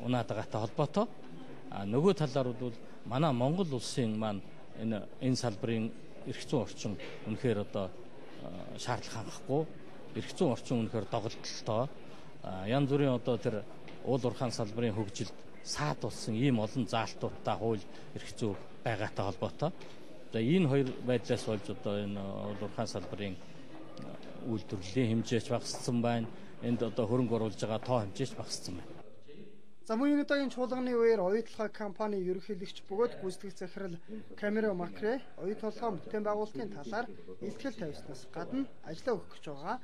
унаад байгаатай холбоотой. Нөгөө талаар бол манай Монгол улсын маань энэ салбарын эрх зүйн орчин үнэхээр одоо шаардлага хангахгүй, эрх зүйн орчин үнэхээр доголдолтой. Янз бүрийн одоо тэр уул уурхайн салбарын хөгжилд саад болсон ийм олон заалтуудтай хууль эрх зүй байгаатай холбоотой. Энэ хоёр байдлаас болж одоо энэ уул уурхайн салбарын үйлдвэрлэлийн хэмжээч багассан байна. Энд одоо хөрөнгө оруулж байгаа тоо хэмжээч багассан байна. За мөн энэ удаагийн чуулганы үеэр оюутлага компани ерөнхийлөгч бөгөөд гүйцэтгэх захирал Камеро Макре оюу толгой бүтээн байгуулалтын талаар илтгэл тавьснаас гадна ажиллаа өгөх гэж байгаа.